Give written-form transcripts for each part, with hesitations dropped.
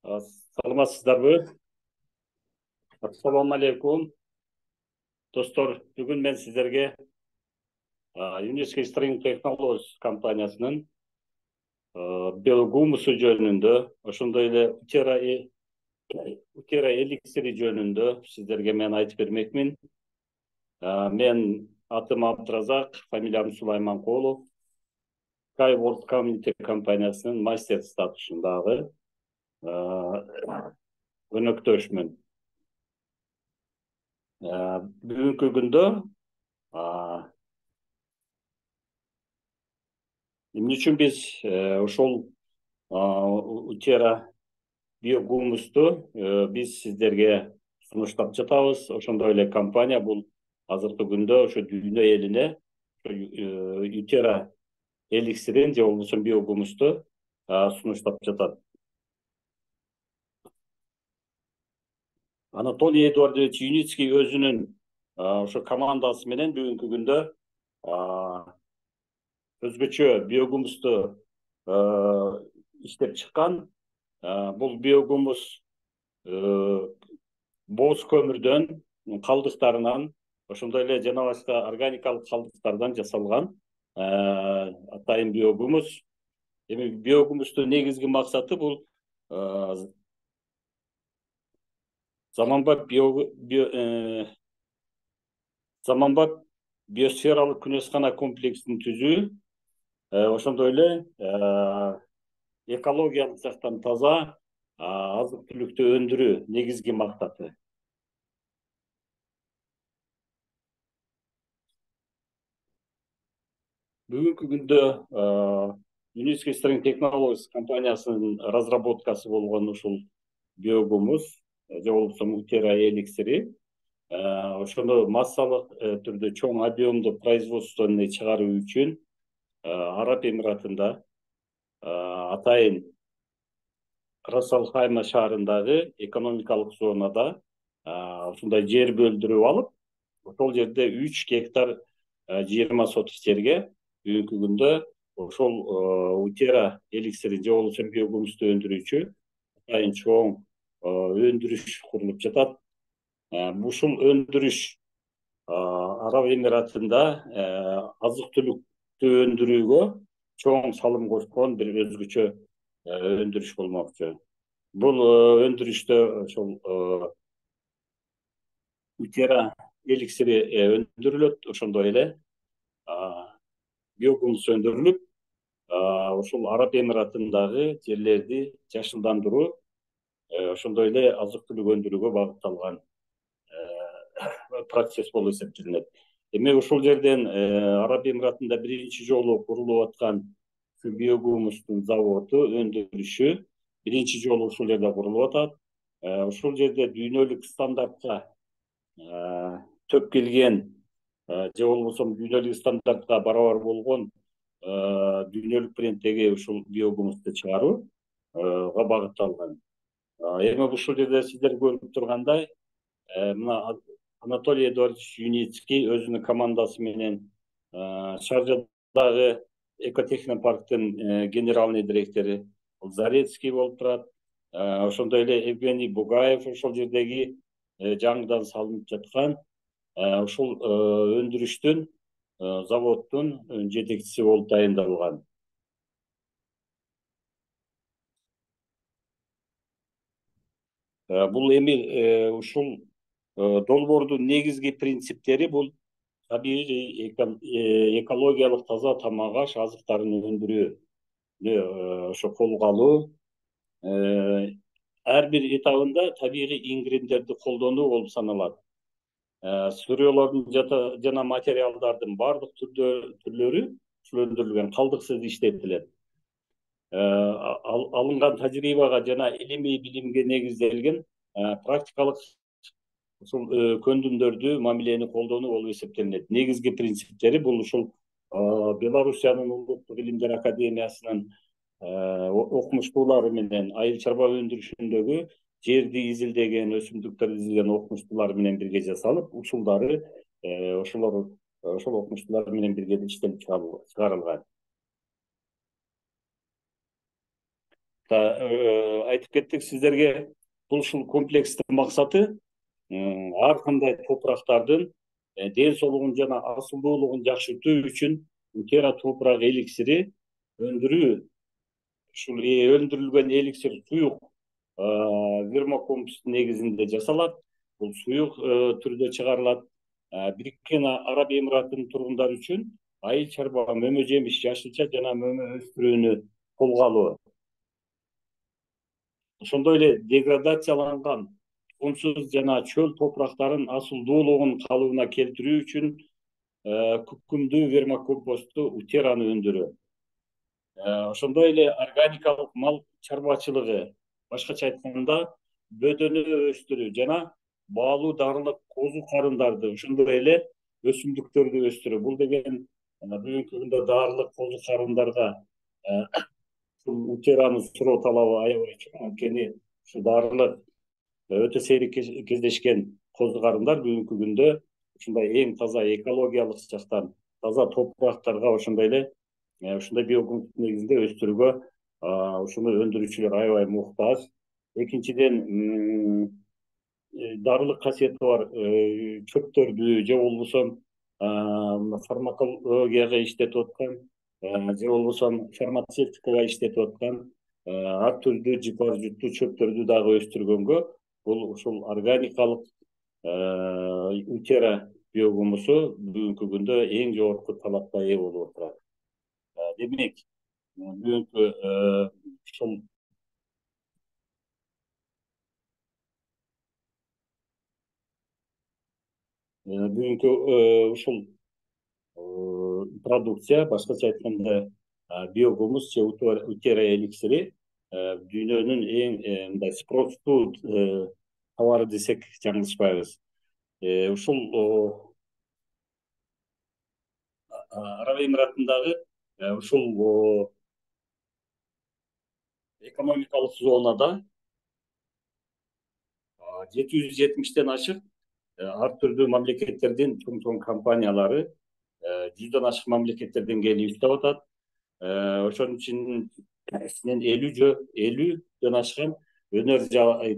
Саламатсыздарбы? Ассаламу алейкум. Достор, бүгүн мен сиздерге Unisky String Technologies компаниясынын биогумусу жөнүндө, ошондой эле Utera эликсири жөнүндө сиздерге мен айтып бермекмин. Мен атым Абдразак, фамилиям Сулайманкулов. Skyworld Community компаниясынын мастер статусундагы өнөктөшмүн. Бүгүнкү күндө эмне үчүн биз ошол Utera биогумусту биз сиздерге сунуштап жатабыз. Ошондой эле компания бул азыркы күндө ошо дүйнө элине Utera эликсирин же болбосо биогумусту сунуштап жатат. Анатолий Эдуардович Юницкий өзүнүн ошо командасы менен бүгүнкү күндө өзгөчө биогумусту иштеп чыккан. Бул биогумус боз көмүрдөн калдыктарынан, ошондой эле жана башка органикалык калдыктардан жасалган атайын биогумус. Эми биогумустун негизги максаты бул заманбап биосфералык күнөскана комплексин түзүү, ошондой эле экологиялык жактан таза азык-түлүктү өндүрүү негизги максаты. Бүгүнкү күндө Unisky String Technologies компаниясынын разработкасы болгон ушул биогумус же болбосо Utera эликсири ошондо массалык түрдө чоң объемдуу производствону чыгаруу үчүн Араб Эмиратында атайын Расалхайма шаарындагы экономикалык зонада ушундай жер бөлдүрүп алып, ошол жерде 3 гектар 20 соток жерге бүгүнкү күндө ошол Utera эликсири же болбосо биогумусту өндүрүүчү атайын чоң өндүрүш курулуп жатат. Ушул өндүрүш Араб Эмиратында азык-түлүктү өндүрүүгө чоң салым кошкон бир өзгөчө өндүрүш болмокчу. Бул өндүрүштө ошол Utera эликсири өндүрүлөт, ошондой эле биогумус өндүрүлүп, ушул Араб Эмиратындагы жерлерди жашылдандыруу, ошондой эле азык-түлүк өндүрүүгө багытталган процесс болуп эсептелинет. Эми ушул жерден Араб Эмиратында биринчи жолу курулуп аткан биогумустун заводу өндүрүшү биринчи жолу ушул жерде курулуп атат. Ушул жерде дүйнөлүк стандартка төп келген же болбосо дүйнөлүк стандартка барабар болгон дүйнөлүк бренддеги ушул биогумусту чыгарууга багытталган. Эми ушул жерде сиздер көрүп тургандай, мына Анатолий Эдуардович Юницкий өзүнүн командасы менен Шаржадагы экотехнопарктын генеральный директору Зарецкий болуп турат. Ошондой эле Евгений Бугаев ошол жердеги жаңыдан салынып жаткан ушул өндүрүштүн заводдун жетекчиси болуп дайындалган. Бул эми ушул долбоордун негизги принциптери бул табигый экологиялык таза тамак-аш азыктарын өндүрүүнү ошо колго алуу, ар бир этабында табигый ингредиенттерди колдонуу болуп саналат. Сырьеолордун жана материалдардын баардык түрлөрү ушул өндүрүлгөн калдыксыз иштетилет. Алынган тажрыйбага жана илимий билимге негизделген практикалык ушул көндүмдөрдү, мамилени колдонуу болуп эсептелинет. Негизги принциптери бул ушул Белоруссиянын Улуттук илимдер академиясынын окумуштуулары менен айыл чарба өндүрүшүндөгү жерди изилдеген, өсүмдүктөрдү изилдеген окумуштуулар менен бирге жасалып, усулдары ошол окумуштуулар менен бирге иштелип чыгарылган. Айтып кеттик сиздерге, бул ушул комплекстин максаты ар кандай топурактардын ден соолугун жана асылдуулугун жакшыртуу үчүн Утера топурак эликсири өндүрүү. Ушул өндүрүлгөн эликсир суюк вермокомпостун негизинде жасалат. Бул суюк түрдө чыгарылат. Бириккен Араб Эмиратынын тургундары үчүн айыл чарба, мөмө жемиш, жашылча жана мөмө өстүрүүнү колго алуу. Ошондой эле деградацияланган кумсуз жана чөл топурактардын асылдуулугун калыбына келтирүү үчүн күкүмдүү вермокомпостту Утераны өндүрүү. Ошондой эле органикалык мал чарбачылыгы, башкача айтканда бөдөнө өстүрүү жана баалуу дарылык козу карындарды, ошондой эле өсүмдүктөрдү өстүрүү. Бул деген бүгүнкү күндө дарылык козу карындарга Утеранын суроо талабы аябай чоң. Анткени ушу дарылык өтө сейрек кездешкен козу карындар бүгүнкү күндө ушундай эң таза экологиялык жактан таза топурактарга, ошондой эле ушундай биокомпост негизинде өстүрүүгө ушуну өндүрүүчүлөр аябай муктаж. Экинчиден, дарылык касиети бар чөптөрдү же болбосо фармакологияга иштетип аткан же болбосо фармацевтикага иштетип аткан ар түрдүү жыпар жуттуу чөптөрдү дагы өстүргөнгө бул ушул органикалык Утера биогумусу бүгүнкү күндө эң жогорку талапка ээ болуп отурат. Демек, бүгүнкү ушул ушул продукция, башкача айтканда биогумус же Утера эликсири дүйнөнүн эң мындай спростуу товары десек жаңылышпайбыз. Ушул Араб Эмиратындагы ушул экономикалык зонада 770тен ашык ар түрдүү мамлекеттердин чоң компаниялары 100дон ашык мамлекеттерден келип иштеп атат. Ошонун ичинен 50дөн ашкан өнөр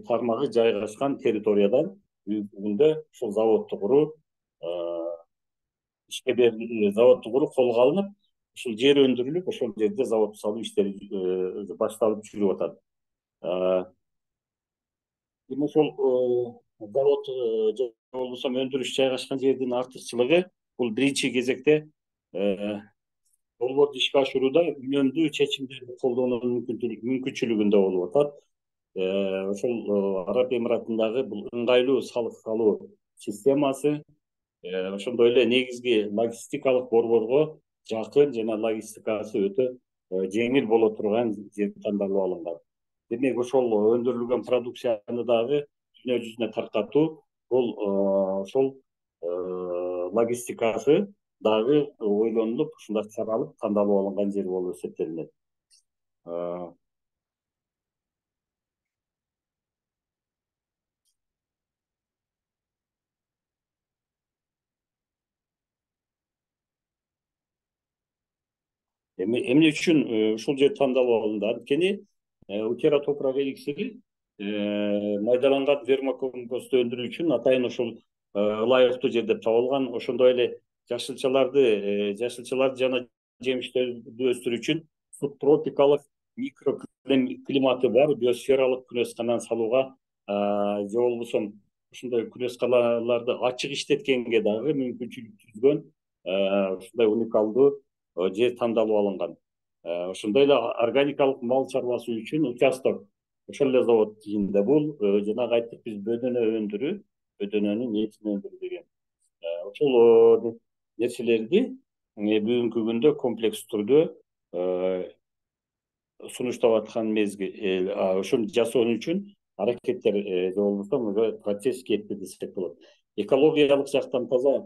тармагы жайгашкан территориядан бүгүнкү күндө ушул заводду куруу ишке берилип, заводду куруу колго алынып, ушул жер өндүрүлүп, ошол жерде завод салуу иштери башталып жүрүп атат. Эми ошол завод же болбосо өндүрүш жайгашкан жердин артыкчылыгы бул биринчи кезекте долбоорду ишке ашырууда үнөмдүү чечимдерди колдонуунун мүмкүнчүлүгүндө болуп атат. Ошол Араб Эмиратындагы бул ыңгайлуу салык салуу системасы, ошондой эле негизги логистикалык борборго жакын жана логистикасы өтө жеңил боло турган жер тандалып алынган. Демек, ошол өндүрүлгөн продукцияны дагы дүйнө жүзүнө таркатуу, бул ошол логистикасы дагы ойлонулуп, ушундай каралып, тандалып алынган жер болуп эсептелинет. Эмне үчүн ушул жер тандалып алынды? Анткени Утера топурак эликсири майдаланган вермокомпосту өндүрүү үчүн атайын ушул ылайыктуу жер деп табылган. Ошондой эле жашылчаларды жана жемиштерди өстүрүү үчүн субтропикалык микроклиматы бар биосфералык күнөз-канан салууга же болбосо ушундай күнөз-каналарды ачык иштеткенге дагы мүмкүнчүлүк түзгөн ушундай уникалдуу жер тандалып алынган. Ошондой эле органикалык мал чарбасы үчүн участок ошол эле завод ичинде. Бул жанагы айттык биз бөдөнө өндүрүү, бөдөнөнүн этин өндүрүү деген. Ошол нерселерди бүгүнкү күндө комплекс түрдө сунуштап аткан мезгил, ошону жасоо үчүн аракеттер же болбосо процесс кетти десек болот. Экологиялык жактан таза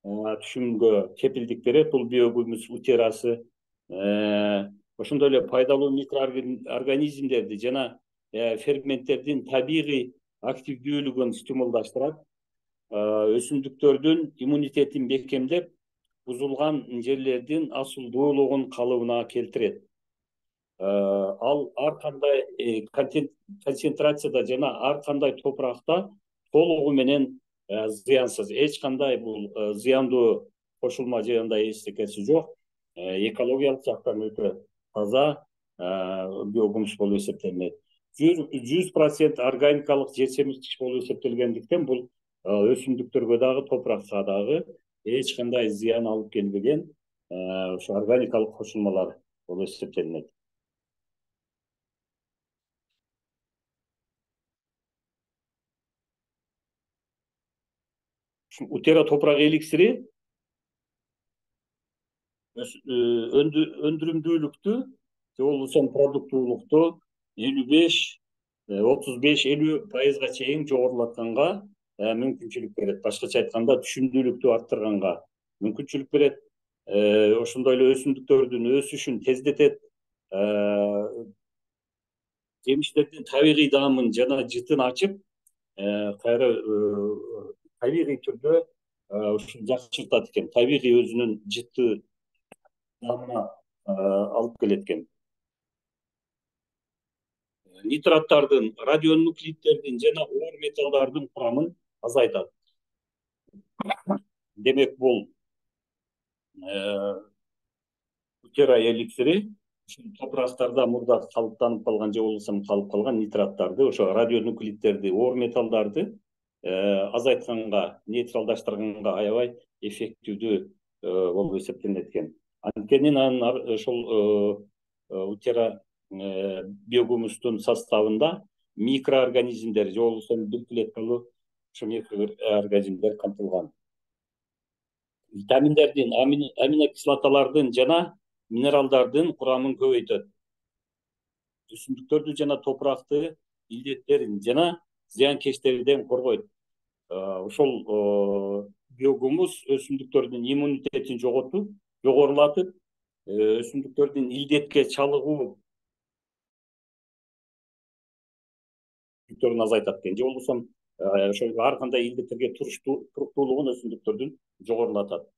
түшүмгө кепилдик берет бул биогумус Утерасы. Ошондой эле пайдалуу микроорганизмдерди жана ферменттердин табигый активдүүлүгүн стимулдаштырат. Өсүмдүктөрдүн иммунитетин бекемдеп, бузулган жерлердин асылдуулугун калыбына келтирет. ал ар кандай концентрацияда жана ар кандай топуракта толугу менен зыянсыз, эч кандай бул зыяндуу кошулма же андай эчтекеси жок, экологиялык жактан өтө таза биогумус болуп эсептелинет. 100% органикалык жер семирткич болуп эсептелгендиктен бул өсүмдүктөргө дагы топуракка дагы эч кандай зыян алып келбеген ошо органикалык кошулмалар болуп эсептелинет. Утера топурак эликсири өндүрүмдүүлүктү же болбосо продуктуулукту 35-50% чейин жогорулатканга мүмкүнчүлүк берет. Башкача айтканда, түшүмдүүлүктү арттырганга мүмкүнчүлүк берет. Ошондой эле өсүмдүктөрдүн өсүшүн тездетет. Жемиштердин табигый даамын жана жытын ачып, кайра табигый түрдө ушул жакшыртат экен. Табигый өзүнүн жыты даамына алып келет экен. Нитраттардын, радионуклиддердин жана оор металлдардын курамын азайтат. Демек, бул Утера эликсири топурактарда мурда калыптанып калган же болбосо калып калган нитраттарды, ошо радионуклиддерди, оор металлдарды азайтканга, нейтралдаштырганга аябай эффективдүү болуп эсептелинет экен. Анткени анын ошол Утера биогумустун составында микроорганизмдер же болбосо бир клеткалуу ошо микроорганизмдер камтылган. Витаминдердин, аминокислоталардын жана минералдардын курамын көбөйтөт. Өсүмдүктөрдү жана топуракты илдеттерин жана зыянкечтерден коргойт. Ошол биогумус өсүмдүктөрдүн иммунитетин жогорулатып, өсүмдүктөрдүн илдетке чалыгуу азайтат экен. Же болбосо ошол ар кандай илдеттерге туруктуулугун өсүмдүктөрдүн жогорулатат.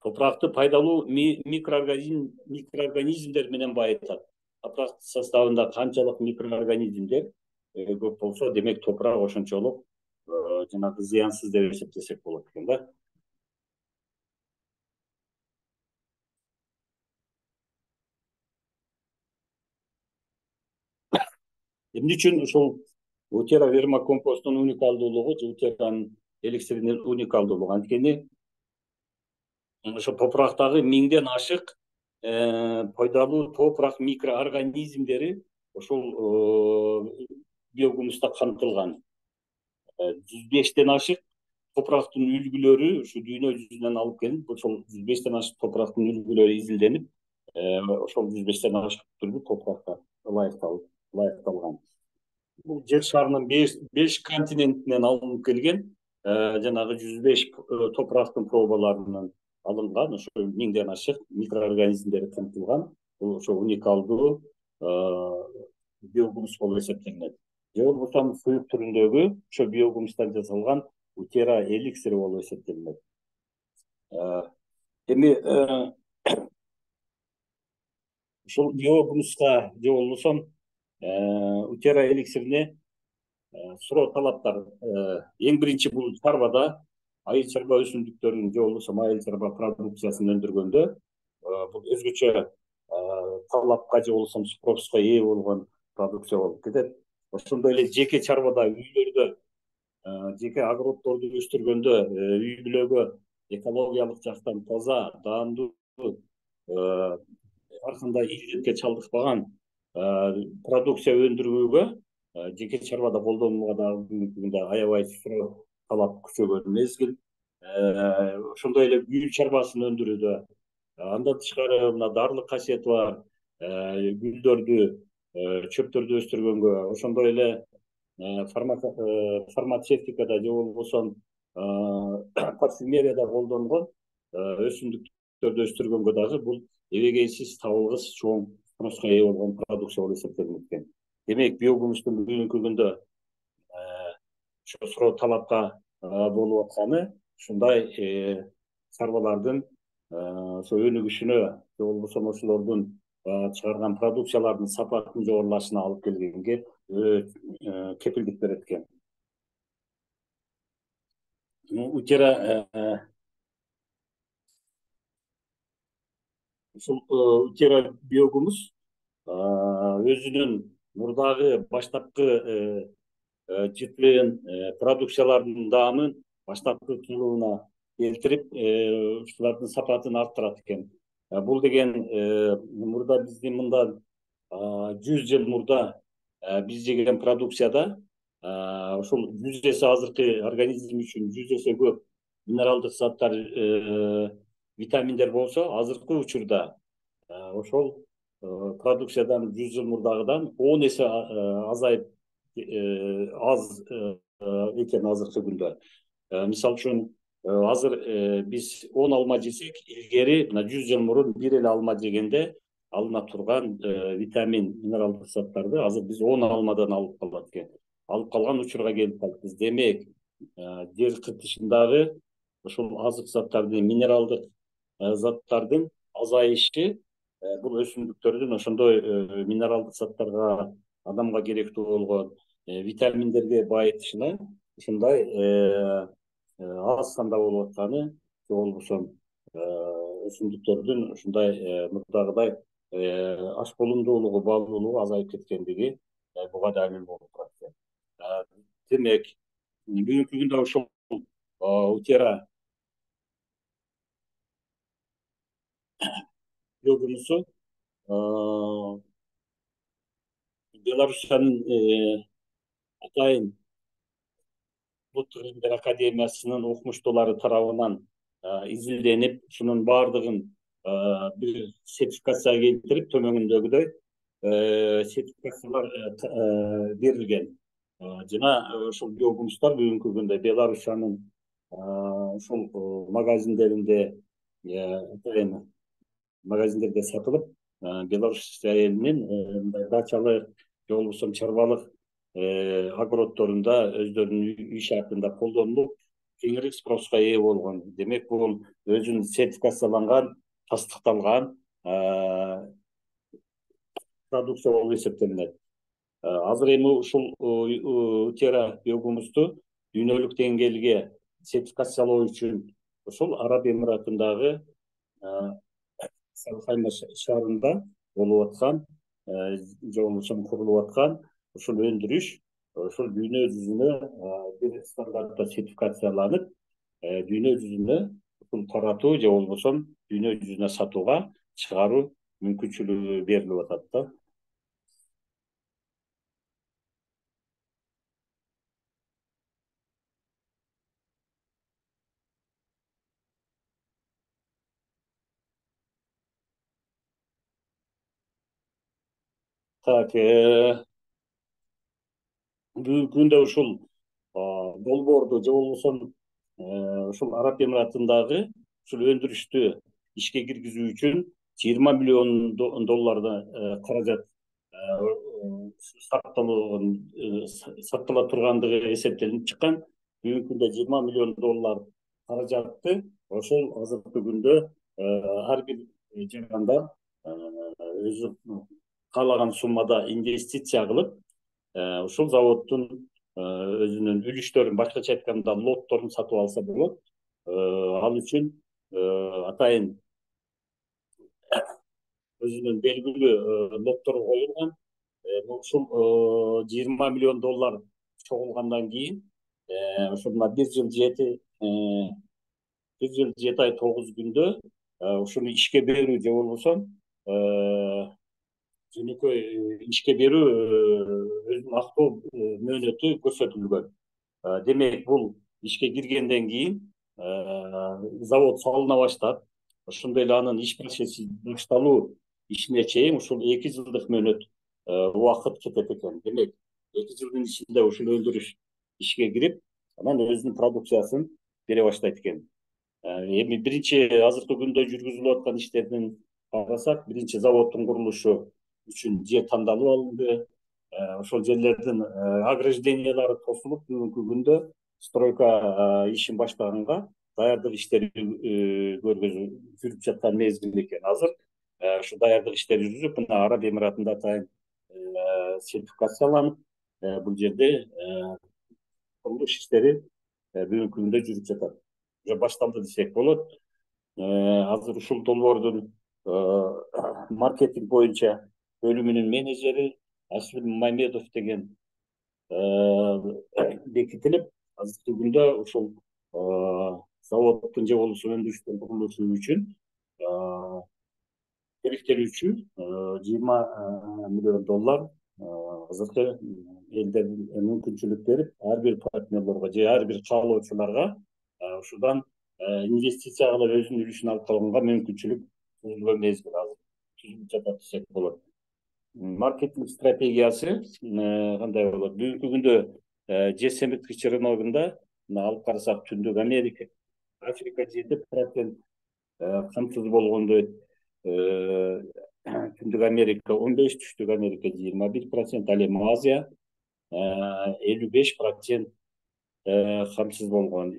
Топуракты пайдалуу микроорганизмдер менен байытат. Топурак составында канчалык микроорганизмдер көп болсо, демек топурак ошончолук жанагы зыянсыз деп эсептесек болот экен да. Эмне үчүн ушул Утера вермикомпосттун уникалдуулугу же Утеранын эликсиринин уникалдуулугу? Анткени ошо топурактагы 1000ден ашык пайдалуу топурак микроорганизмдери ошол биогумуста камтылган. 105ден ашык топурактын үлгүлөрү ушу дүйнө жүзүнөн алып келип, ошол 105ден ашык топурактын үлгүлөрү изилденип, ошол 105ден ашык түрдүү топуракка ылайыкталган. Бул жер шарынын 5 континентинен алынып келген жанагы 105 топурактын пробаларынан алынган, ошо 1000ден ашык микроорганизмдер камтылган. Бул ошо уникалдуу биогумус болуп эсептелинет. Же болбосо суюк түрүндөгү ошо биогумустан жасалган Утера эликсири болуп эсептелинет. Эми ушул биогумуска же болбосо Утера эликсирине суроо талаптар. Эң биринчи, бул чарбада айыл чарба өсүмдүктөрүн же болбосо айыл чарба продукциясын өндүргөндө бул өзгөчө талапка же болбосо спроска ээ болгон продукция болуп кетет. Ошондой эле жеке чарбада, үйлөрдө, жеке огороддорду өстүргөндө үй бүлөгө экологиялык жактан таза, даамдуу, ар кандай илдетке чалдыкпаган продукция өндүрүүгө жеке чарбада колдонууга дагы бүгүнкү күндө аябай суроо талап күчөгөн мезгил. Ошондой эле гүл чарбасын өндүрүүдө, андан тышкары мына дарылык касиети бар гүлдөрдү, чөптөрдү өстүргөнгө, ошондой эле фармацевтикада же болбосо парфюмерияда колдонгон өсүмдүктөрдү өстүргөнгө дагы бул эбегейсиз, табылгыс, чоң спроска ээ болгон продукция болуп эсептелинет экен. Демек, биогумустун бүгүнкү күндө ошо суроо талапка болуп атканы ушундай чарбалардын ошо өнүгүшүнө же болбосо ошолордун чыгарган продукциялардын сапатынын жогорулашына алып келгенге кепилдик берет экен. Утера ушул утера биогумус өзүнүн мурдагы баштапкы жытын продукциялардын даамын баштапкы кылыбына келтирип, ушулардын сапатын арттырат экен. Бул деген мурда биздин мындан 100 жыл мурда биз жеген продукцияда ушул 100 эсе азыркы организм үчүн 100 эсе көп минералдык заттар, витаминдер болсо, азыркы учурда ошол продукциядан 100 жыл мурдагыдан 10 эсе азайып аз экен азыркы күндө. Мисалы үчүн азыр биз 10 алма жесек, илгери мына 100 жыл мурун бир эле алма жегенде алына турган витамин, минералдык заттарды азыр биз 10 алмадан алып калат экен. Алып калган учурга келип калыпбыз. Демек, жер кыртышындагы ошол азык заттардын, минералдык заттардын азайышы бул өсүмдүктөрдүн ошондой минералдык заттарга, адамга керектүү болгон витаминдерге байытышына ушундай аз санда болуп атканы, же болбосо өсүмдүктөрдүн ушундай мурдагыдай аш болумдуулугу, баалуулугу азайып кеткендиги буга далил болуп турат экен. Демек, бүгүнкү күндө ушул утера биогумусу Беларусиянын атайын Улуттук илимдер академиясынын окумуштуулары тарабынан изилденип, ушунун баардыгын бир сертификацияга келтирип, төмөнүндөгүдөй сертификациялар берилген. Жана ушул биогумустар бүгүнкү күндө Беларусиянын ушул магазиндеринде сатылып, Беларусия элинин мындай дачалык же болбосо чарбалык огороддорунда өздөрүнүн үй шартында колдонулуп, кеңири спроска ээ болгон. Демек, бул өзүнүн сертификацияланган, тастыкталган продукция болуп эсептелинет. Азыр эми ушул утера биогумусту дүйнөлүк деңгээлге сертификациялоо үчүн ушул Араб Эмиратындагы Салхайма шаарында болуп аткан, же болбосо курулуп аткан ушул өндүрүш ушул дүйнө жүзүнө бир стандартта сертификацияланып, дүйнө жүзүнө ушул таратуу же болбосо дүйнө жүзүнө сатууга чыгаруу мүмкүнчүлүгү берилип атат да. Так, бүгүнкү күндө ушул долбоорду же болбосо ушул Араб Эмиратындагы ушул өндүрүштү ишке киргизүү үчүн 20 миллион доллардан каражат сактала тургандыгы эсептелинип чыккан. Бүгүнкү күндө 20 миллион доллар каражатты ошол азыркы күндө ар бир жарандар өзү каалаган суммада инвестиция кылып, ушул заводдун өзүнүн үлүштөрүн, башкача айтканда лотторун сатып алса болот. Ал үчүн атайын өзүнүн белгилүү лоттору коюлган. Ушул 20 миллион доллар чогулгандан кийин ошо мына 1 жыл 7 ай 9 күндө ушуну ишке берүү же болбосо жөнөкөй ишке берүү өзүн актоо мөөнөтү көрсөтүлгөн. Демек, бул ишке киргенден кийин завод салына баштап, ошондой эле анын иш процесси башталуу ишине чейин ушул 2 жылдык мөөнөт убакыт кетет экен. Демек, 2 жылдын ичинде ушул өндүрүш ишке кирип, анан өзүнүн продукциясын бере баштайт экен. Эми биринчи азыркы күндө жүргүзүлүп аткан иштердин карасак, биринчи заводдун курулушу үчүн жер тандалып алынды. Ошол жерлердин ограждениялары тосулуп, бүгүнкү күндө стройка ишин баштаганга даярдык иштери жүрүп жаткан мезгил экен азыр. ушу даярдык иштери жүрүп, мына Араб Эмиратында атайын сертификацияланып, бул жерде курулуш иштери бүгүнкү күндө жүрүп жатат. Уже башталды десек болот. Азыр ушул долбоордун маркетинг боюнча бөлүмүнүн менеджери Аслим Мамедов деген бекитилип, азыркы күндө ушул заводдун же болбосо өндүрүштүн курулушу үчүн керектелүүчү $20 миллион азыркы элдердин мүмкүнчүлүк берип, ар бир партнерлорго же ар бир каалоочуларга ушудан инвестиция кылып өзүнүн үлүшүн алып калганга мүмкүнчүлүк түзүлгөн мезгил азыр түзүлүп жатат десек болот. Маркетинг стратегиясы кандай болот? Бүгүнкү күндө жер семирткич рыногунда алып карасак, Түндүк Америка, Африка 7% камсыз болгондой, Түндүк Америка 15, Түштүк Америка 21%, ал эми Азия 55% камсыз болгон.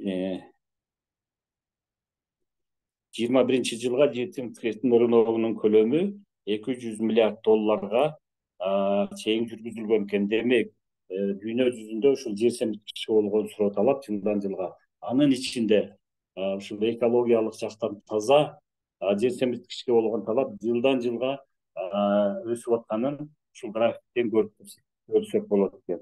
2021-жылга жер семирткичтин рыногунун көлөмү $200 миллиард чейин жүргүзүлгөн экен. Демек, дүйнө жүзүндө ушул жер семирткичке болгон суроо талап жылдан жылга, анын ичинде ушул экологиялык жактан таза жер семирткичке болгон талап жылдан жылга өсүп атканын ушул графиктен көрсөк болот экен.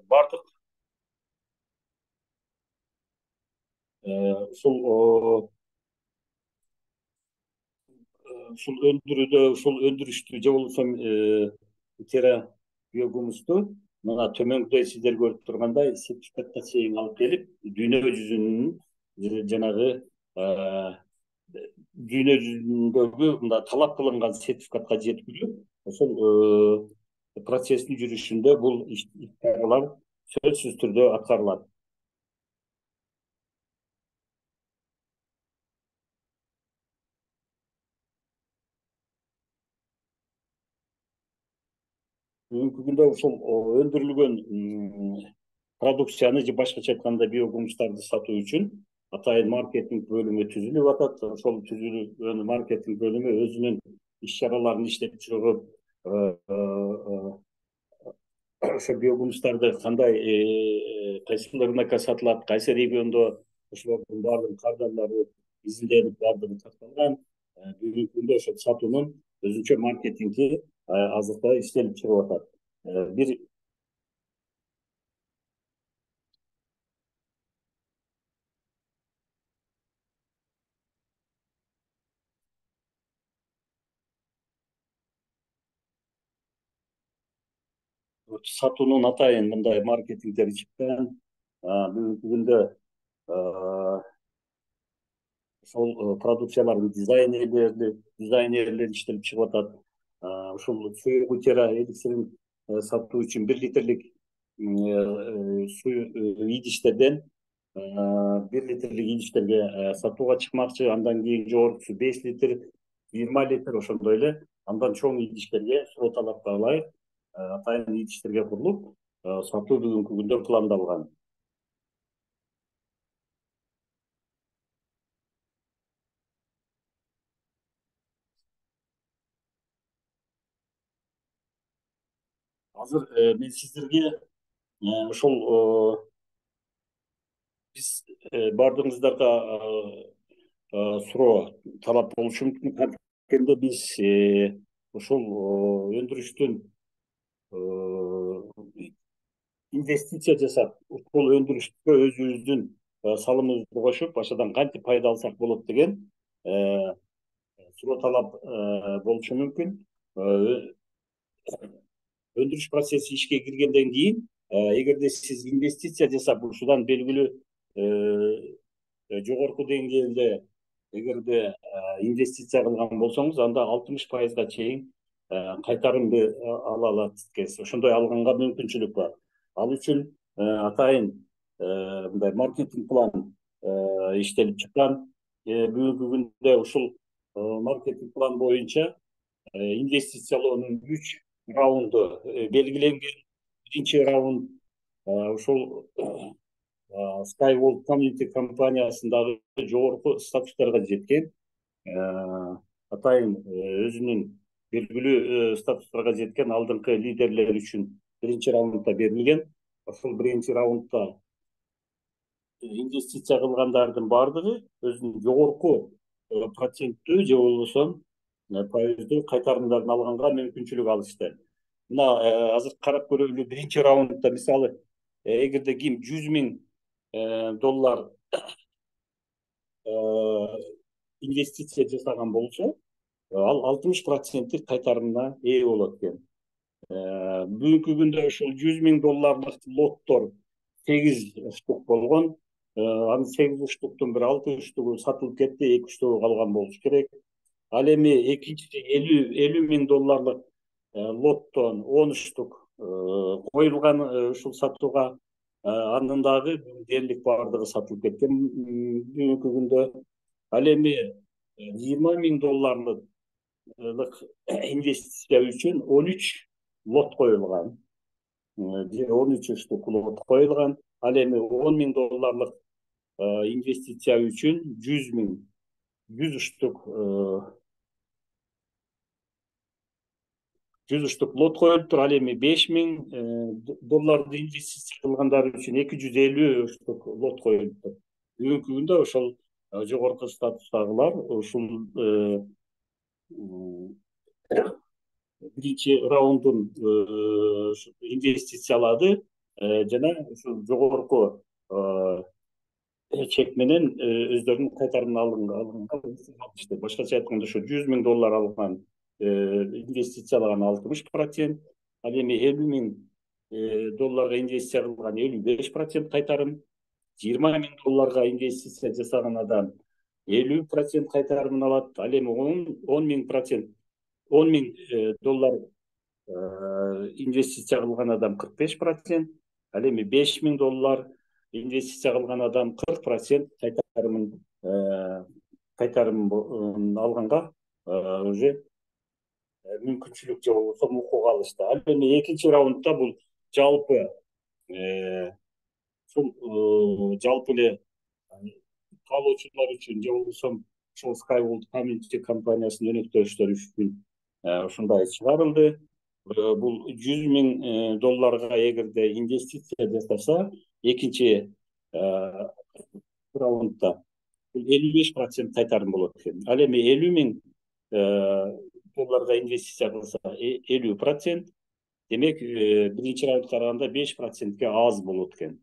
Бардык ушул өндүрүштү же болбосо биогумусту мына төмөндө сиздер көрүп тургандай сертификатка чейин алып келип, дүйнө жүзүнүн жанагы дүйнө жүзүндөгү мында талап кылынган сертификатка жеткирүү, ошол процесстин жүрүшүндө бул иш-чаралар сөзсүз түрдө аткарылат. Бүгүнкү күндө ушул өндүрүлгөн продукцияны же башкача айтканда биогумустарды сатуу үчүн атайын маркетинг бөлүмү түзүлүп атат. Ошол түзүлгөн маркетинг бөлүмү өзүнүн иш-чараларын иштеп чыгып, ошо биогумустарды кандай кайсы рынокко сатылат, кайсы региондо ошолордун баардык кардарлары изилденип баардыгы такталган. Бүгүнкү күндө ошол сатуунун өзүнчө маркетинги азыркы иштелип чыгып атат. Бир сатуунун атайын мындай маркетингдери чыккан. Бүгүнкү күндө ошол продукциялардын дизайнерлери иштелип чыгып атат. Ушул Суугутера эликсирин сатуу үчүн 1 литрлик суу идиштерден 1 литрлик идиштерге сатууга чыкмакчы, андан кийин жогоркусу 5 литр, 20 литр, ошондой эле андан чоң идиштерге суроо талапка ылайык атайын идиштерге курулуп сатуу бүгүнкү күндө пландалган. Азыр мен сиздерге ошол биз баардыгыңыздарга суроо талап болушу мүмкүн. Анткенде биз ошол өндүрүштүн инвестиция жасап, ушул өндүрүшкө өзүбүздүн салымыбызды кошуп, ошодон кантип пайда алсак болот деген суроо талап болушу мүмкүн. Өндүрүш процесси ишке киргенден кийин, эгерде сиз инвестиция жасап, ушудан белгилүү жогорку деңгээлде эгерде инвестиция кылган болсоңуз, анда 60%га чейин кайтарымды ала аласыз. Ошондой алганга мүмкүнчүлүк бар. Ал үчүн атайын мындай маркетинг план иштелип чыккан. Бүгүнкү күндө ушул маркетинг план боюнча инвестициялоонун 3 раунду белгиленген. Биринчи раунд ушул Skyworld Community компаниясындагы жогорку статустарга жеткен, атайын өзүнүн белгилүү статустарга жеткен алдыңкы лидерлер үчүн биринчи раундда берилген. Ошол биринчи раундда инвестиция кылгандардын баардыгы өзүнүн жогорку проценттүү же болбосо пайыздуу кайтарымдарын алганга мүмкүнчүлүк алышты. Мына азыр карап көрөлү, биринчи раундда мисалы эгерде ким $100,000 инвестиция жасаган болсо, ал 60% кайтарымына ээ болот экен. Бүгүнкү күндө ушул $100,000 лоттор 8 штук болгон. Анын 8 штуктун бир 6 штугу сатылып кетти, 2 штугу калган болушу керек. Ал эми экинчи $50,000 лоттон 10 штук коюлган ушул сатууга. Анын дагы дээрлик баардыгы сатылып кеткен бүгүнкү күндө. Ал эми $20,000 инвестиция үчүн 13 лот коюлган. 13 штук лот коюлган. Ал эми $10,000 инвестиция үчүн 100 штук 100 штук лот коюлуптур. Ал эми $5,000 инвестиция кылгандар үчүн 250 штук лот коюлуптур. Бүгүнкү күндө ошол жогорку статустагылар ушул биринчи раундун инвестициялады жана ушул жогорку чек менен өздөрүнүн кайтарымын алганга алышты. Башкача айтканда, ошо $100,000 алган инвестициялаган 60%, ал эми $50,000 инвестиция кылган 55% кайтарым, $20,000 инвестиция жасаган адам 50% кайтарымын алат. Ал эми $10,000 инвестиция кылган адам 45%, ал эми $5,000 инвестиция кылган адам 40% кайтарым алганга уже мүмкүнчүлүк же болбосо укук алышты. Ал эми экинчи раундда бул жалпы жалпы эле каалоочулар үчүн же болбосо ошол Skyworld Community компаниясынын өнөктөштөрү үчүн ушундай чыгарылды. Бул $100,000 эгерде инвестиция жасаса, экинчи раундда 55% кайтарым болот экен. Ал эми $50,000 инвестиция кылса 50%, демек биринчи раундга караганда 5%ке аз болот экен.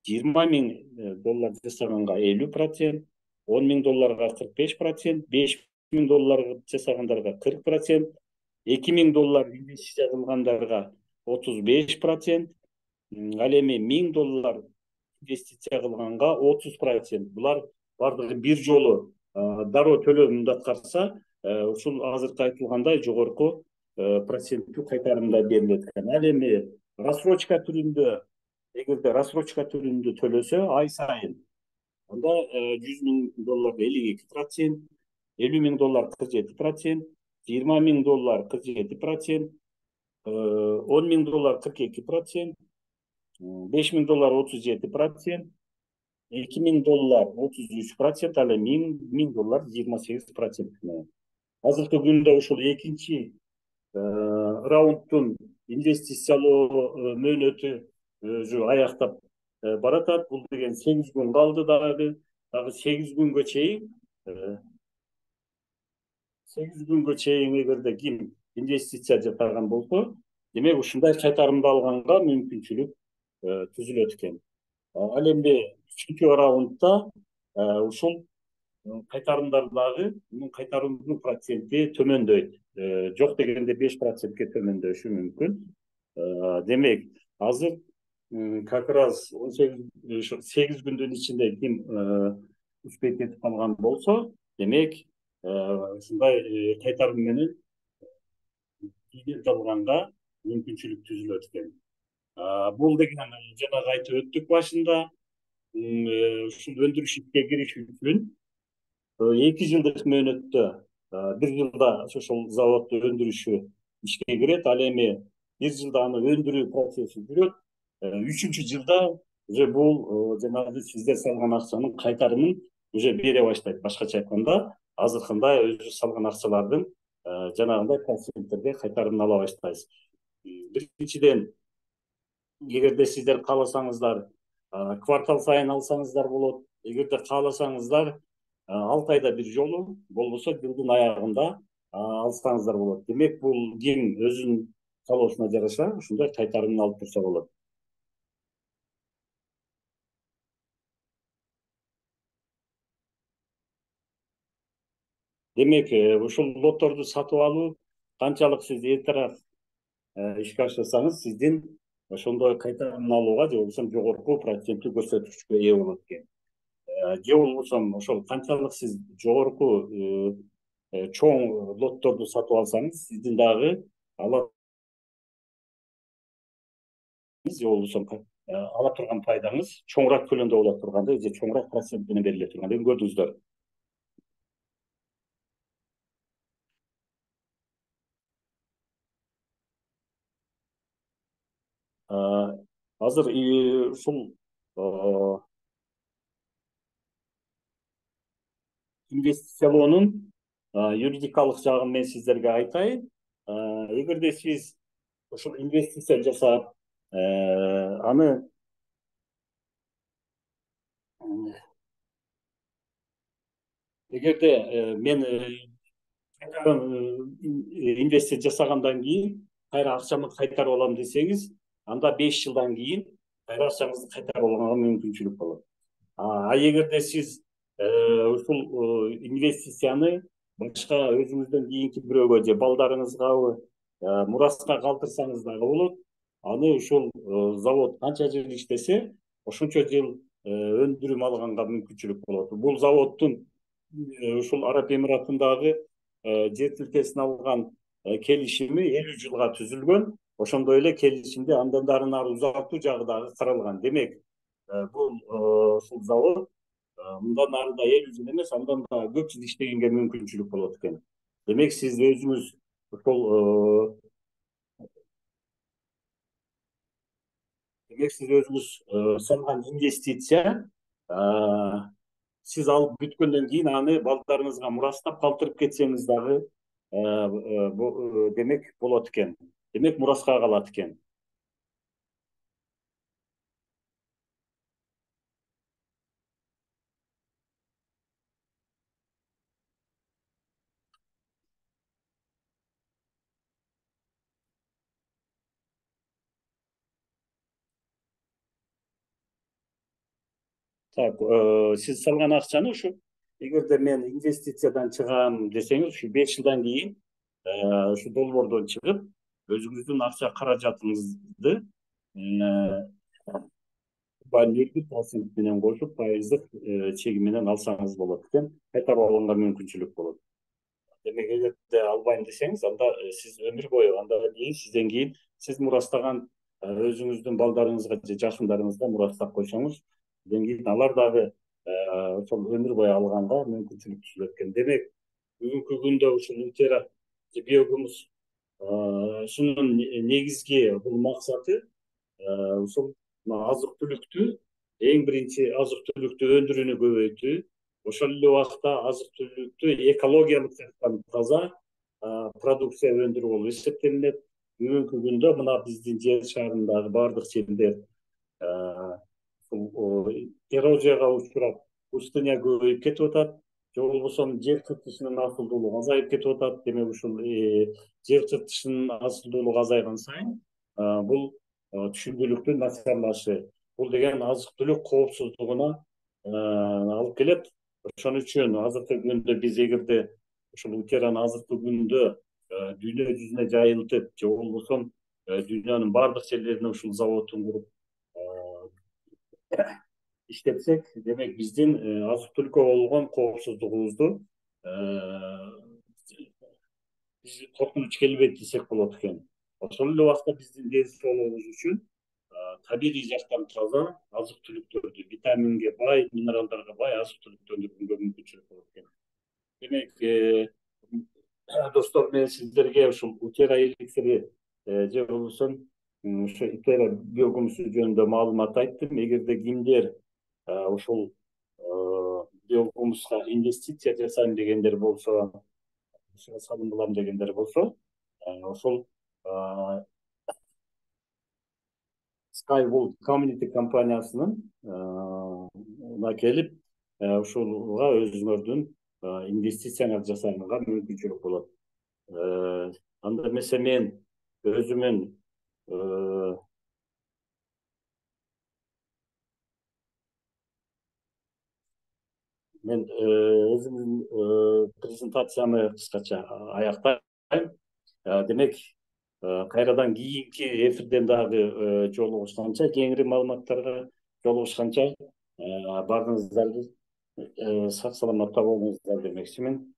$20,000 жасаганга 50%, $10,000 45%, $5,000 жасагандарга 40%, $2,000 инвестиция кылгандарга 35%, ал эми $1,000 инвестиция кылганга 30%. Булар бардыгы бир жолу дароо төлөмүндө аткарса, ушул азыркы айтылгандай жогорку проценттүү кайтарымда берилет экен. Ал эми рассрочка түрүндө, эгерде рассрочка түрүндө төлөсө ай сайын, анда $100,000 52%, $50,000 47%, $20,000 47%, $10,000 42%, $5,000 37%, $2,000 33%, ал эми $1,000 28%. Азыркы күндө ушул экинчи раундтун инвестициялоо мөөнөтү уже аяктап баратат. Бул деген 8 күн калды, дагы 8 күнгө чейин эгерде ким инвестиция жасаган болсо, демек ушундай кайтарымды алганга мүмкүнчүлүк түзүлөт экен. Ал эми үчүнчү раундда ушул кайтарымдар дагы, мунун кайтарымдын проценти төмөндөйт. Жок дегенде 5%ке төмөндөшү мүмкүн. Демек, азыр как раз 8 күндүн ичинде ким успеть этип калган болсо, демек ушундай кайтарым менен клиент алганга мүмкүнчүлүк түзүлөт экен. Бул деген жанагы айтып өттүк башында, ушул өндүрүш ишке кириш үчүн 2 жылдык мөөнөттө, 1 жылда ошол заводдун өндүрүшү ишке кирет. Ал эми 1 жылда аны өндүрүү процесси жүрөт. үчүнчү жылда уже бул жанагы сиздер салган акчанын кайтарымын уже бере баштайт. Башкача айтканда, азыркында өзү салган акчалардын жанагындай проценттерде кайтарымын ала баштайсыз. Биринчиден, эгерде сиздер кааласаңыздар, квартал сайын алсаңыздар болот. Эгерде кааласаңыздар, 6 айда бир жолу, болбосо жылдын аягында алсаңыздар болот. Демек, бул ким өзүнүн каалоосуна жараша ушундай кайтарымын алып турса болот. Демек, ушул лотторду сатып алуу канчалык сиз эртерээк ишке ашырсаңыз, сиздин ошондой кайтарымын алууга же болбосо жогорку проценттүү көрсөткүчкө ээ болот экен. Же болбосо ошол канчалык сиз жогорку чоң лотторду сатып алсаңыз, сиздин дагы же болбосо ала турган пайдаңыз чоңураак көлөмдө боло тургандай же чоңураак процент менен бериле тургандыгын көрдүңүздөр. Азыр ушул инвестициялоонун юридикалык жагын мен сиздерге айтайын. Эгерде сиз ушул инвестиция жасап, аны эгерде мен инвестиция жасагандан кийин кайра акчамды кайтарып алам десеңиз, анда 5 жылдан кийин кайра акчаңызды кайтарып алганга мүмкүнчүлүк болот. Эгерде сиз ушул инвестицияны башка өзүңүздөн кийинки бирөөгө же балдарыңызгабы мураска калтырсаңыз дагы болот. Аны ушул завод канча жыл иштесе, ошончо жыл өндүрүм алганга мүмкүнчүлүк болот. Бул заводдун ушул Араб Эмиратындагы жер тилкесин алган келишими 50 жылга түзүлгөн. Ошондой эле келишимде андан ары узартуу жагы дагы каралган. Демек, бул ушул завод мындан ары да 50 жыл эмес, андан да көп жыл иштегенге мүмкүнчүлүк болот экен. Демек, сиз өзүңүз ушул демек сиз өзүңүз салган инвестиция, сиз алып бүткөндөн кийин аны балдарыңызга мурастап калтырып кетсеңиз дагы демек болот экен. Демек, мураска калат экен. Так, сиз салган акчаны ушу, эгерде мен инвестициядан чыгам десеңиз, ушу 5 жылдан кийин ушу долбоордон чыгып, өзүңүздүн акча каражатыңызды 0,1% менен кошуп, пайыздык чеги менен алсаңыз болот экен. Кайтарып алганга мүмкүнчүлүк болот. Демек, эгерде албайм десеңиз, анда сиз өмүр бою, андан кийин сизден кийин сиз мурастаган өзүңүздүн балдарыңызга же жакындарыңызга мурастап койсоңуз, андан кийин алар дагы ошол өмүр бою алганга мүмкүнчүлүк түзүлөт экен. Демек, бүгүнкү күндө ушул Утера биогумус ушунун негизги бул максаты ушул азык түлүктү, эң биринчи азык түлүктү өндүрүүнү көбөйтүү, ошол эле убакта азык түлүктү экологиялык жактан таза продукция өндүрүү болуп эсептелинет. Бүгүнкү күндө мына биздин жер шарындагы баардык жерлер эрозияга учурап, пустыня көбөйүп кетип атат, же болбосо жер кыртышынын асылдуулугу азайып кетип атат. Демек, ушул жер кыртышынын асылдуулугу азайган сайын бул түшүмдүүлүктүн начарлашы, бул деген азык түлүк коопсуздугуна алып келет. Ошон үчүн азыркы күндө биз эгерде ушул Утераны азыркы күндө дүйнө жүзүнө жайылтып, же болбосо дүйнөнүн баардык жерлерине ушул заводун куруп иштетсек, демек биздин азык түлүккө болгон коопсуздугубузду биз коркунуч келбейт десек болот экен. Ошол эле убакта биздин ден соолугубуз үчүн табигый жактан таза азык түлүктөрдү, витаминге бай, минералдарга бай азык түлүктү өндүргөнгө мүмкүнчүлүк болот экен. Демек, достор, мен сиздерге ушул Утера эликсири же болбосо Ошо итера биогумушту жөнүндө маалымат айттым. Эгерде кимдер ушул биогумуска инвестиция жасайм дегендер болсо, салым кылам дегендер болсо, ошол Skywood Community компаниясынын келип, ушуга өзүңөрдүн инвестицияңарды жасаганга мүмкүнчүлүк болот. Анда эмесе мен өзүмүн презентациямы кыскача аяктайм. Демек, кайрадан кийинки эфирден дагы жолугушканча, кеңири маалыматтарга жолугушканча, баарыңыздарды сак саламатта болуңуздар демекчимин.